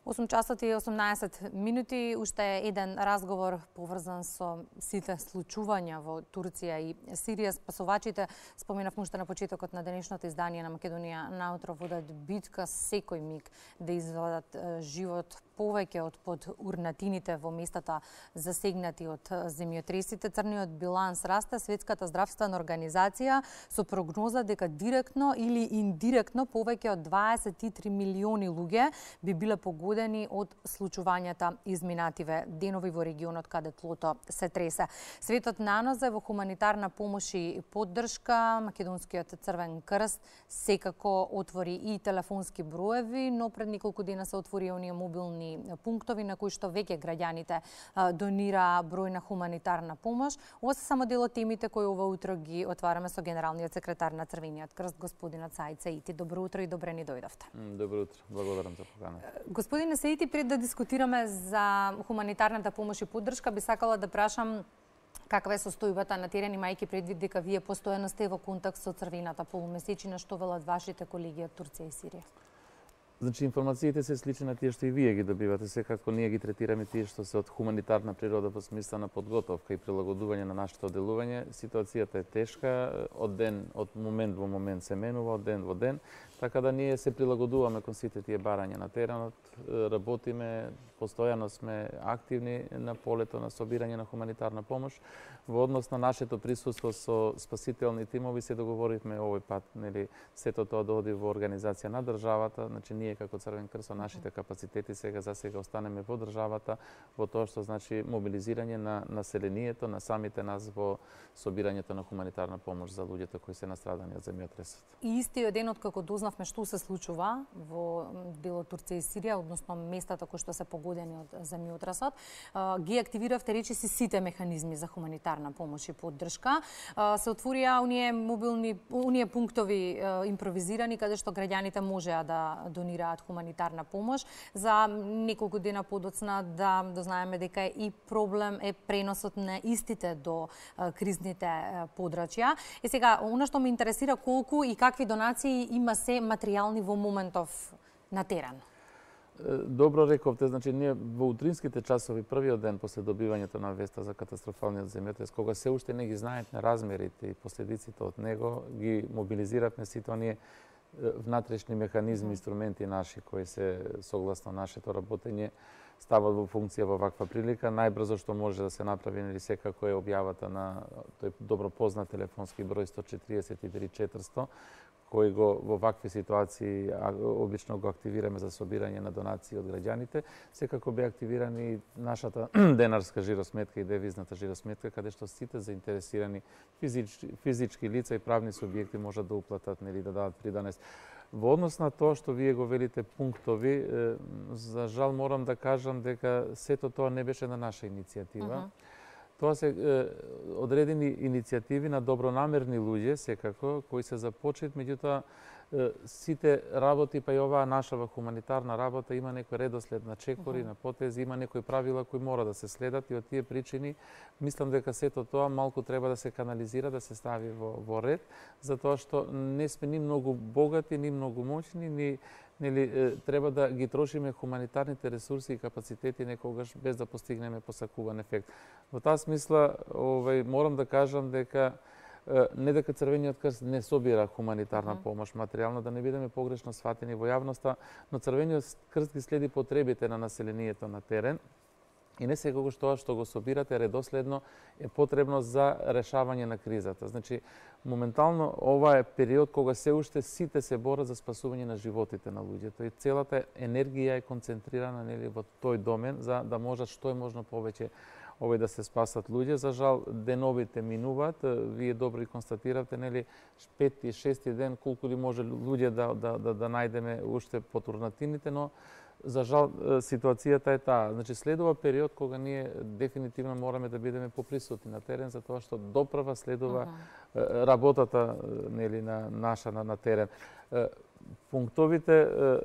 8 часот и 18 минути, уште еден разговор поврзан со сите случувања во Турција и Сирија. Спасувачите, споменавме уште на почетокот на денешното издание на Македонија наутро, водат битка секој миг да извадат живот повеќе од под урнатините во местата засегнати од земјотресите. Црниот биланс расте. Светската здравствена организација со прогноза дека директно или индиректно повеќе од 23 милиони луѓе би биле погодени од случувањата изминативе денови во регионот каде тлото се тресе. Светот нанозе во хуманитарна помош и поддршка. Македонскиот Црвен крст секако отвори и телефонски броеви, но пред неколку дена се отвори оние мобилни пунктови на кои што веќе граѓаните донира бројна хуманитарна помош. Ова се само дел од темите кои ова утро ги отвараме со генералниот секретар на Црвениот крст, господинот Саид Саити. Добро утро и добре ни дојдовте. Добро утро, благодарам за поканата. Господине Саити, пред да дискутираме за хуманитарната помош и поддршка, би сакала да прашам каква е состојбата на терен, имајќи предвид дека вие постојано сте во контакт со црвената полумесечина, што велат вашите колеги од Турција и Сирија? Значи, информациите се слични на тие што и вие ги добивате, секако ние ги третираме тие што се од хуманитарна природа во смисла на подготовка и прилагодување на нашето делување. Ситуацијата е тешка, од момент во момент се менува, од ден во ден, така да ние се прилагодуваме кон сите тие барања на теренот, работиме, постојано сме активни на полето на собирање на хуманитарна помош. Во однос на нашето присуство со спасителни тимови се договоривме овој пат, нели, сето тоа да оди во организација на државата, значи ние како Црвен крст со нашите капацитети сега останеме во државата, во тоа што значи мобилизирање на населението, на самите нас во собирањето на хуманитарна помош за луѓето кои се настрадани од земјотресот. И истиот ден од како дознавме што се случува во делот Турција и Сирија, односно местата кои што се погодени од земјотресот, ги активиравте речиси сите механизми за хуманитарна помош и поддршка. Се отворија оние пунктови импровизирани каде што граѓаните можеа да донираат хуманитарна помош. За неколку дена подоцна да дознаеме дека и проблем е преносот на истите до кризните подрачја. И сега, она што ме интересира, колку и какви донации има се материјални во моментов на терен? Добро рековте, значи ние во утринските часови, првиот ден после добивањето на веста за катастрофалниот земјотрес, кога се уште не ги знаевме размерите и последиците од него, ги мобилизиравме сите оние внатрешни механизми, инструменти наши кои се согласно нашето работење стават во функција во ваква прилика. Најбрзо што може да се направи, нели, секако е објавата на тој добро познат телефонски број 143 400, кој го во вакви ситуации обично го активираме за собирање на донации од граѓаните. Секако бе активирана и нашата денарска жиросметка и девизната жиросметка, каде што сите заинтересирани физички лица и правни субјекти можат да уплатат, нели, да дадат придонес. Во однос на тоа што вие го велите пунктови, за жал морам да кажам дека сето тоа не беше на наша иницијатива. Тоа се одредени иницијативи на добронамерни луѓе, секако, кои се започнат, меѓутоа сите работи, па и оваа наша хуманитарна работа има некој редослед на чекори, на потези, има некои правила кои мора да се следат, и од тие причини мислам дека сето тоа малку треба да се канализира, да се стави во ред, затоа што не сме ни многу богати, ни многу моćни, ни треба да ги трошиме хуманитарните ресурси и капацитети некогаш без да постигнеме посакуван ефект. Во таа смисла, морам да кажам дека не дека Црвениот крст не собира хуманитарна помош материјална, да не бидеме погрешно сватени во јавноста, но Црвениот крст ги следи потребите на населението на терен и не секогаш тоа што го собирате редоследно е потребно за решавање на кризата. Значи, моментално ова е период кога се уште сите се борат за спасување на животите на луѓето и целата енергија е концентрирана, нели, во тој домен за да можат што е можно повеќе да се спасат луѓе. За жал, деновите минуваат. Вие добро и констатиравте, нели, 5-ти, 6-ти ден, колку ли може луѓе да најдеме уште под урнатините, но за жал ситуацијата е таа. Значи, следува период кога ние дефинитивно мораме да бидеме поприсутни на терен, затоа што доправа следува работата, нели, на наша на терен. Пунктовите,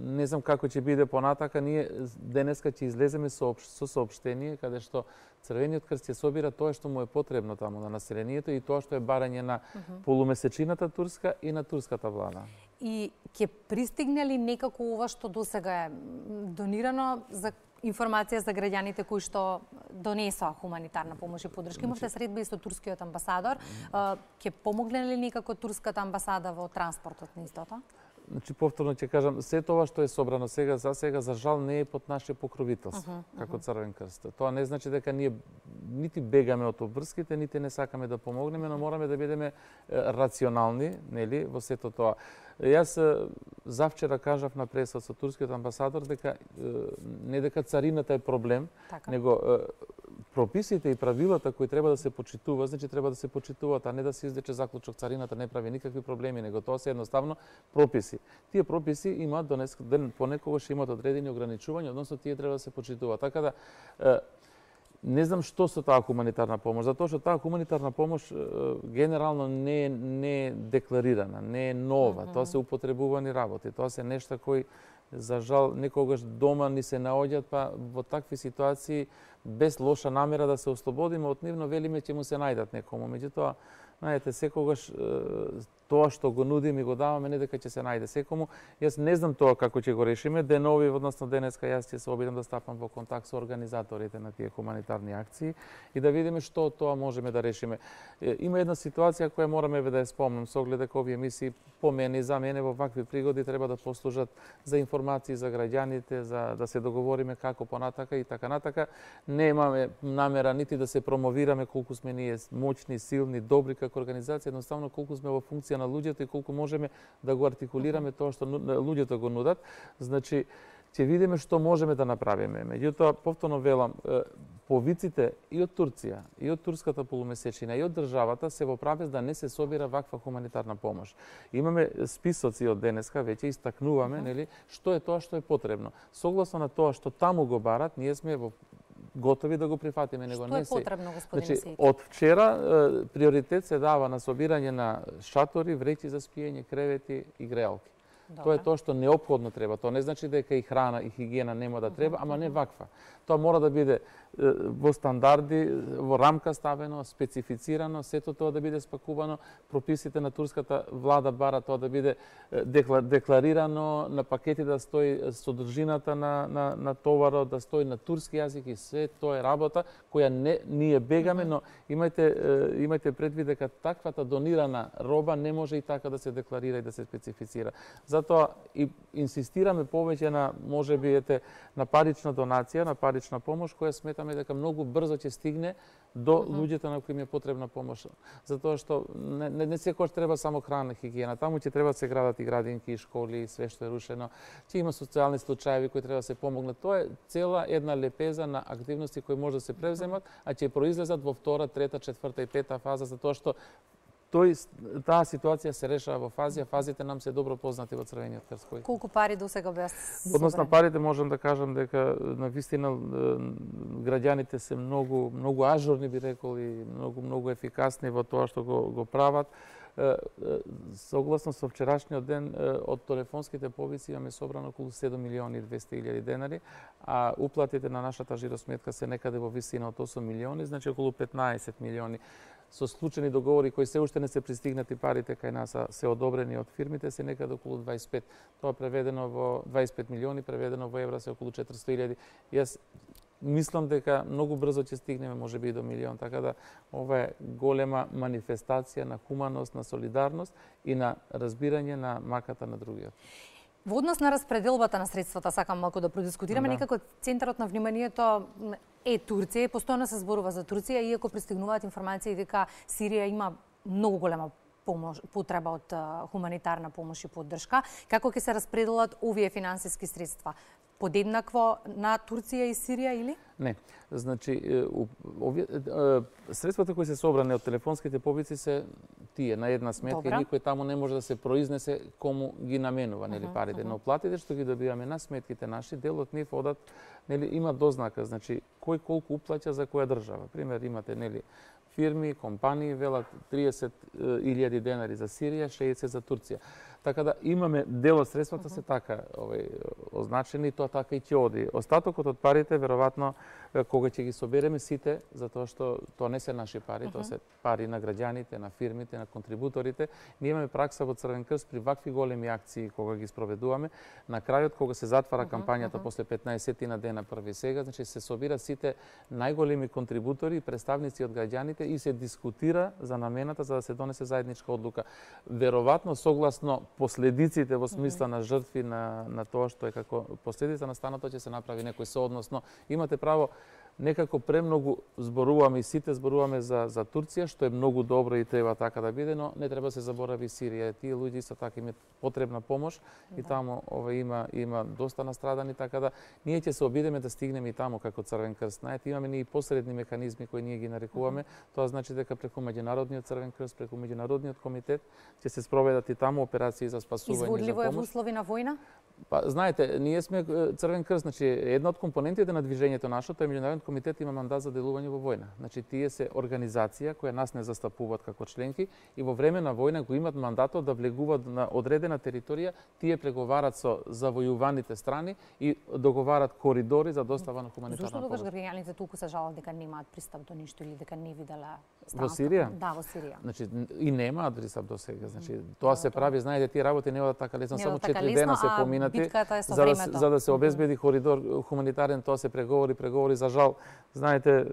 не знам како ќе биде понатака, ние денеска ќе излеземе со соопштение каде што Црвениот крст ќе собира тоа што му е потребно таму на населението и тоа што е барање на полумесечината турска и на турската влада. И ќе пристигне ли некако ова што досега е донирано за информација за граѓаните кои што донесоа хуманитарна помош и поддршка? Имавте средба и со турскиот амбасадор. Ќе помогне ли некако турската амбасада во транспортот на истото? Значи, повторно ќе кажам, се тоа што е собрано сега, за жал не е под наше покровителство, како Црвен крст. Тоа не значи дека ние нити бегаме од обврските, нити не сакаме да помогнеме, но мораме да бидеме рационални, нели, во сето тоа. Јас завчера кажав на пресот со турскиот амбасадор дека не дека царината е проблем, него прописите и правилата кои треба да се почитуваат, значи треба да се почитуваат, а не да се издече заклучок царината не прави никакви проблеми, него тоа се едноставно прописи. Тие прописи имаат понекогаш имаат одредени ограничувања, односно тие треба да се почитуваат. Така да не знам што со таа хуманитарна помош, затоа што таа хуманитарна помош генерално не е декларирана, не е нова, тоа се употребувани работи, тоа се нешта кои за жал некогаш дома ни се наоѓаат, па во такви ситуации без лоша намера да се ослободиме од нив, но велиме ќе му се најдат некому. Меѓутоа, знаете, секогаш тоа што го нудиме и го даваме, не дека ќе се најде секому. Јас не знам тоа како ќе го решиме. Денови, односно денеска, јас ќе се обидам да стапам во контакт со организаторите на тие хуманитарни акции и да видиме што од тоа можеме да решиме. Има една ситуација која мораме да ја спомнам, со оглед дека овие емисии по мене и за мене во вакви пригоди треба да послужат за информации за граѓаните, за да се договориме како понатака и така натака. Немаме намера нити да се промовираме колку сме ние моćни, силни, добри како организација, едноставно колку сме во функција на луѓето и колку можеме да го артикулираме тоа што луѓето го нудат. Значи, ќе видиме што можеме да направиме. Меѓутоа, повторно велам, повиците и од Турција, и од турската полумесечина, и од државата се во правец да не се собира ваква хуманитарна помош. Имаме списоци од денеска, веќе истакнуваме, нели, што е тоа што е потребно. Согласно на тоа што таму го барат, ние сме во готови да го прифатиме, него не се. Што е потребно, господине Сејки? Од вчера приоритет се дава на собирање на шатори, вреќи за спиење, кревети и греалки. Тоа е тоа што неопходно треба. Тоа не значи дека и храна и хигиена нема да треба, ама не ваква. Тоа мора да биде во стандарди, во рамка ставено, специфицирано, сето тоа да биде спакувано, прописите на турската влада бара тоа да биде декларирано, на пакети да стои содржината на товарот, да стои на турски јазик и се тоа е работа која ние бегаме, но имајте предвид дека таквата донирана роба не може и така да се декларира и да се специфицира. Затоа и инсистираме повеќе на можеби на парична донација, на парична помош која сметаме дека многу брзо ќе стигне до луѓето на кои им е потребна помош. Затоа што не секогаш треба само храна, хигиена. Таму ќе треба да се градат и градинки, и школи, и све што е рушено. Ќе има социјални случаи кои треба да се помогнат. Тоа е цела една лепеза на активности кои може да се превземат, а ќе произлезат во втора, трета, четврта и пета фаза, затоа што таа ситуација се решава во фази, а фазите нам се добро познати во Црвениот крст. Колку пари досега беа собрани? Однос на парите можам да кажам дека навистина граѓаните се многу ажурни, би рекол, и многу ефикасни во тоа што го прават. Согласно со вчерашниот ден од телефонските повици имаме собрано околу 7.200.000 денари, а уплатите на нашата жиросметка се некаде во висина од 8 милиони, значи околу 15 милиони. Со случајни договори кои се уште не се пристигнати парите кај нас се одобрени од фирмите се некаде околу 25. Тоа преведено во 25 милиони, преведено во евра се околу 400.000. Јас мислам дека многу брзо ќе стигнеме можеби и до милион, така да ова е голема манифестација на хуманост, на солидарност и на разбирање на маката на другиот. Во однос на распределбата на средствата, сакам малку да продискутираме, некако центарот на вниманието е Турција, постојано се зборува за Турција, иако пристигнуваат информации дека Сирија има многу голема потреба од хуманитарна помош и поддршка. Како ќе се распределат овие финансиски средства? Подеднакво на Турција и Сирија или? Не. Значи, средствата кои се собрани од телефонските повици се тие на една сметка и никој таму не може да се произнесе кому ги наменува нели парите, но платите што ги добиваме на сметките наши, дел од нив одат, нели има дознака, значи кој колку уплаќа за која држава. Пример имате нели фирми, компании велат 30.000 денари за Сирија, 60 за Турција. Така да имаме дел од средствата се така предназначени, тоа така и ќе оди. Остатокот од парите, веројатно, кога ќе ги собереме сите, затоа што тоа не се наши пари, тоа се пари на граѓаните, на фирмите, на контрибуторите. Ние имаме пракса во Црвен крст при вакви големи акции кога ги спроведуваме. На крајот, кога се затвара кампањата после 15 на дена први сега, значи се собират сите најголеми контрибутори и представници од граѓаните и се дискутира за намената за да се донесе заедничка одлука. Веројатно согласно последиците во смисла на жртви на тоа што е како последица на станото ќе се направи некој соодносно. Имате право, некако премногу зборуваме и сите зборуваме за Турција, што е многу добро и треба така да биде, но не треба да се заборави Сирија. Тие луѓе исто така имаат потребна помош и таму има доста настрадани, така да ние ќе се обидеме да стигнеме и таму како Црвен крст. Знаете, имаме и посредни механизми кои ние ги нарекуваме. Тоа значи дека преку Меѓународниот Црвен крст, преку Меѓународниот комитет ќе се спроведат и таму операции за спасување, за помош. Изводливо е во услови на војна? Па, знаете, ние сме Црвен крст, значи една од компонентите на движењето нашето е Меѓународниот комитет има мандат за делување во војна. Значи тие се организација која нас не застапуваат како членки и во време на војна го имаат мандатот да влегуваат на одредена територија, тие преговарат со завојуваните страни и договарат коридори за достава на хуманитарна помош. Зошто тогаш граѓаните толку се жалат дека немаат пристап до ништо или дека не виделе во Сирија? Да, во Сирија. Значи и немаат пристап до сега. Значи тоа се прави, знаете, тие работи не одат така лесно, само 4 дена се поминати за да се обезбеди коридор хуманитарен, тоа се преговори за жал. Знаете,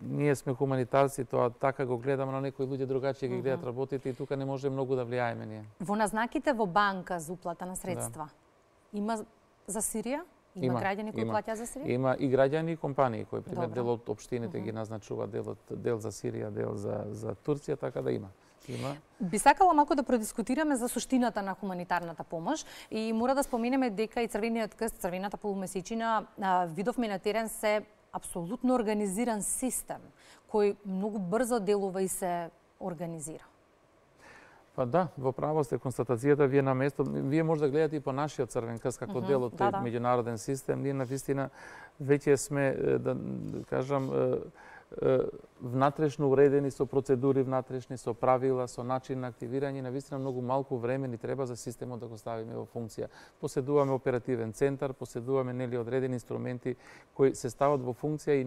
ние сме хуманитарци, тоа така го гледаме, но некои луѓе другачи ги гледат работите и тука не може многу да влијаеме ние. Во назнаките во банка за уплата на средства, има за Сирија? Има граѓани кои плаќаат за Сирија? Има и граѓани и компании кои пример дел од општините ги назначуваат дел за Сирија, дел за Турција, така да има. Би сакала малку да продискутираме за суштината на хуманитарната помош и мора да споменеме дека и Црвениот крст, Црвената полумесечина видовме на терен се апсолутно организиран систем кој многу брзо делува и се организира. Па да, во право сте, констатацијата ви е на место. Вие може да гледате и по нашиот Црвен крст како дел од тој меѓународен систем. Ние навистина веќе сме, да кажам, внатрешно уредени со процедури внатрешни, со правила, со начин на активирање, навистина многу малку време ни треба за системот да го ставиме во функција. Поседуваме оперативен центар, поседуваме нели одредени инструменти кои се стават во функција и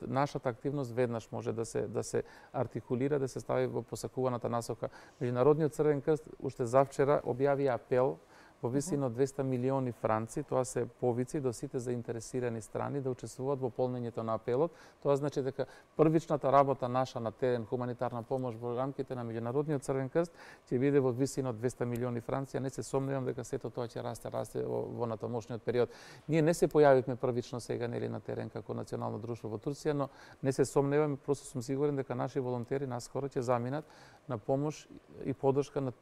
нашата активност веднаш може да се артикулира, да се стави во посакуваната насока. Меѓународниот Црвен крст уште завчера објави апел во висина од 200 милиони франци, тоа се повици до сите заинтересирани страни да учествуваат во полнењето на апелот. Тоа значи дека првичната работа наша на терен, хуманитарна помош во рамките на Меѓународниот Црвен крст ќе биде во висина од 200 милиони франци, а не се сомневам дека сето тоа ќе расте во натамошниот период. Ние не се појавивме првично сега нели на терен како национално друштво во Турција, но не се сомневам, просто сум сигурен дека наши волонтери наскоро ќе заминат на помош и поддршка на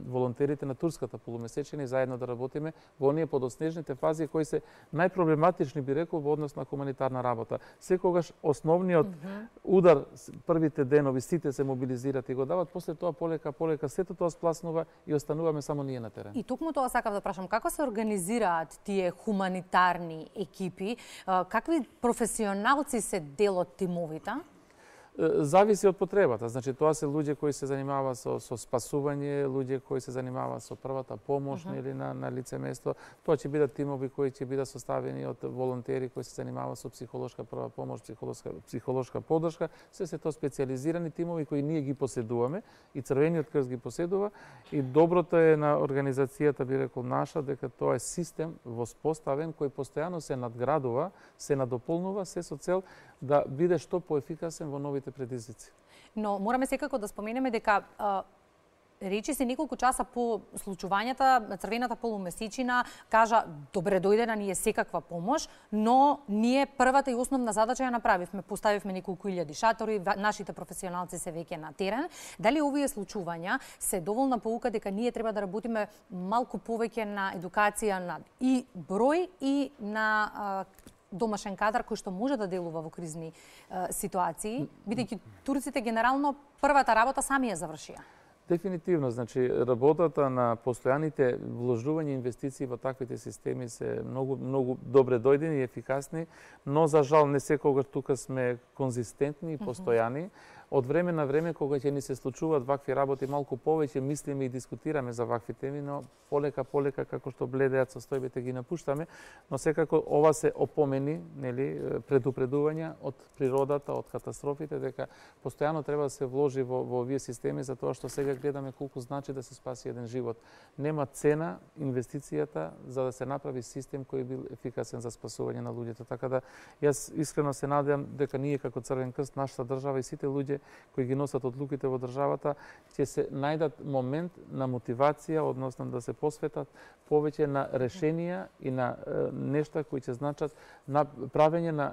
волонтерите на турската полумесечина и заедно да работиме во оние подоснежните фази кои се најпроблематични, би рекол, во однос на хуманитарна работа. Секогаш основниот удар, првите денови, сите се мобилизираат и го дават, после тоа полека сето тоа спласнува и остануваме само ние на терен. И токму тоа сакав да прашам, како се организираат тие хуманитарни екипи, какви професионалци се дел од тимовите? Зависи од потребата. Значи, тоа се луѓе кои се занимаваат со спасување, луѓе кои се занимаваат со првата помош или на лице место. Тоа ќе бидат тимови кои ќе бидат составени од волонтери кои се занимаваат со психолошка прва помош, психолошка поддршка. Се тоа специјализирани тимови кои ние ги поседуваме и Црвениот крст ги поседува. И доброто е на организацијата, би рекол наша, дека тоа е систем воспоставен кој постојано се надградува, се надополнува, се со цел да биде што поефикасен во новите предизвици. Но мораме секако да споменеме дека речи се неколку часа по случувањата, Црвената полумесечина кажа добре дојде на ние секаква помош, но ние првата и основна задача ја направивме. Поставивме неколку илјади шатори, нашите професионалци се веќе на терен. Дали овие случувања се доволна поука дека ние треба да работиме малку повеќе на едукација на и број и на домашен кадар кој што може да делува во кризни ситуации, бидејќи турците генерално првата работа сами ја завршија. Дефинитивно, значи работата на постојаните вложување инвестиции во таквите системи се многу добре дојдени и ефикасни, но за жал не секогаш тука сме конзистентни и постојани. од време на време, кога ќе ни се случуваат вакви работи, малку повеќе мислиме и дискутираме за вакви теми, но полека како што бледеат состојбите ги напуштаме, но секако ова се опомени, нели, предупредувања од природата, од катастрофите, дека постојано треба да се вложи во овие системи, затоа што сега гледаме колку значи да се спаси еден живот. Нема цена инвестицијата за да се направи систем кој бил ефикасен за спасување на луѓето. Така да јас искрено се надевам дека ние како Црвен крст, нашата држава и сите луѓе кои ги носат одлуките во државата ќе се најдат момент на мотивација, односно да се посветат повеќе на решенија и на нешта кои ќе значат на правење на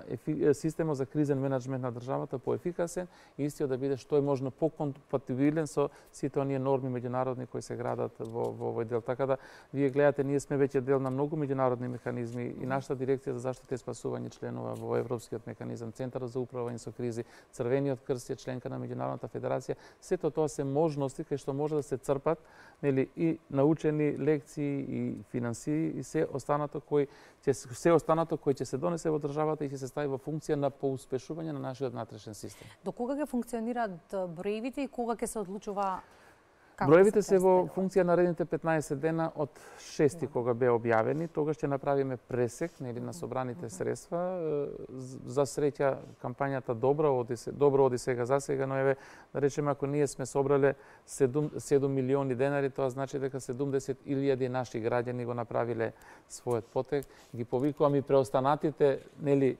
системот за кризен менеджмент на државата поефикасен и истиот да биде што е можно покомпатибилен со сите оние норми меѓународни кои се градат во овој дел. Така да вие гледате, ние сме веќе дел на многу меѓународни механизми и нашата дирекција за заштита и спасување членува во Европскиот механизам, Центарот за управување со кризи, Црвениот крст е членка на Меѓународната федерација. Сето тоа се можности кај што може да се црпат, нели, и научени лекции и финансии и се останато кој ќе се донесе во државата и ќе се стави во функција на поуспешување на нашиот внатрешен систем. До кога ќе функционираат броевите и кога ќе се одлучува? Броевите се во функција наредните 15 дена од 6 кога беа објавени. Тогаш ќе направиме пресек, нели, на собраните средства. За среќа кампањата добро оди сега за сега, но еве да речеме ако ние сме собрале 7 милиони денари, тоа значи дека 70.000 наши граѓани го направиле својот потек. Ги повикувам и преостанатите, нели,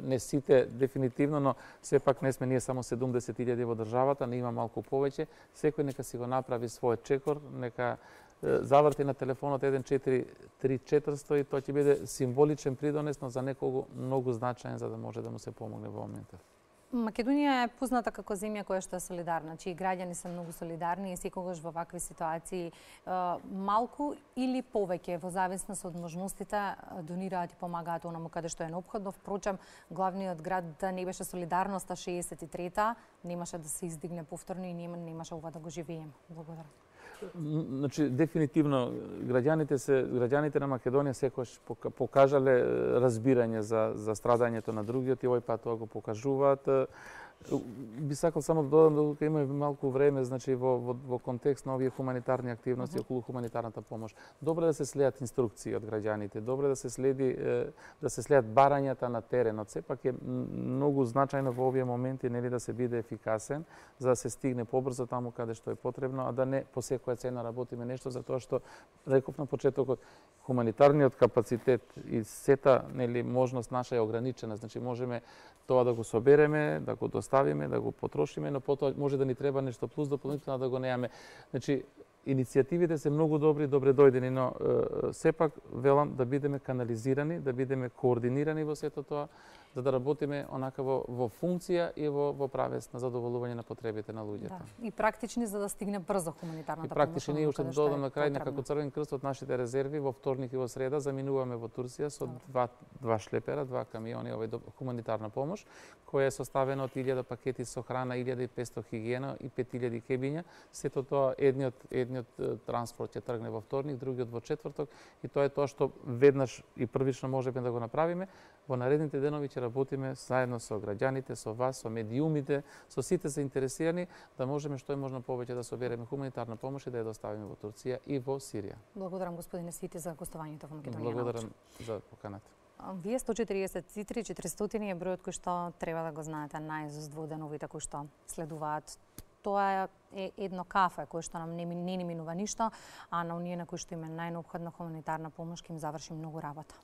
не сите дефинитивно, но сепак не сме ние само 70.000 во државата, не има малку повеќе. Секој нека си го направи својот чекор, нека заврти на телефонот 143400 и тоа ќе биде символичен придонес, но за некого многу значаен за да може да му се помогне во моментот. Македонија е позната како земја која што е солидарна, чии граѓани се многу солидарни и секогаш во вакви ситуации малку или повеќе во зависност од можностите донираат и помагаат онаму каде што е неопходно. Впрочем, главниот град да не беше солидарноста 63-та, немаше да се издигне повторно и немаше ова да го живееме. Благодарам. Значи, дефинитивно, граѓаните на Македонија секојаш покажале разбирање за страдањето на другиот и овој пат тоа го покажуваат. Би сакал само да додам дека имаме малку време, значи во контекст на овие хуманитарни активности околу хуманитарната помош. Добро да се следат инструкции од граѓаните, добро да се следат барањата на теренот. Сепак е многу значајно во овие моменти, нели, да се биде ефикасен за да се стигне побрзо таму каде што е потребно, а да не по секоја цена работиме нешто затоа што реков на почетокот хуманитарниот капацитет и сета, нели, можност наша е ограничена, значи можеме тоа да го собереме, да го доставиме, да го потрошиме, но потоа може да ни треба нешто плюс дополнително да го неаме. Значи, иницијативите се многу добри, добре дојдени, но сепак велам да бидеме канализирани, да бидеме координирани во сето тоа, за да работиме онака во функција и во правец на задоволување на потребите на луѓето. Да. И практични за да стигне брзо хуманитарната помош. И практични, ние уште додам на крај, како Црвен крст од нашите резерви во вторник и во среда заминуваме во Турција со два шлепера, два камиони овој хуманитарна помош, која е составена од 1000 пакети со храна, 1500 хигиена и 5000 кебиња. Сето тоа едниот транспорт ќе тргне во вторник, другиот во четврток и тоа е тоа што веднаш и првично можеме да го направиме. Во наредните денови ќе работиме заедно со граѓаните, со вас, со медиумите, со сите заинтересирани, да можеме што е можно повеќе да собереме хуманитарна помош и да ја доставиме во Турција и во Сирија. Благодарам господине Сити за гостувањето во Македонија. Благодарам за поканата. Вие 143 400 е бројот кој што треба да го знаете наизуст во деновите кои што следуваат. Тоа е едно кафе кој што нам не ни минува ништо, а на оние на кои што им е најнеопходна хуманитарна помош ќе им заврши многу работа.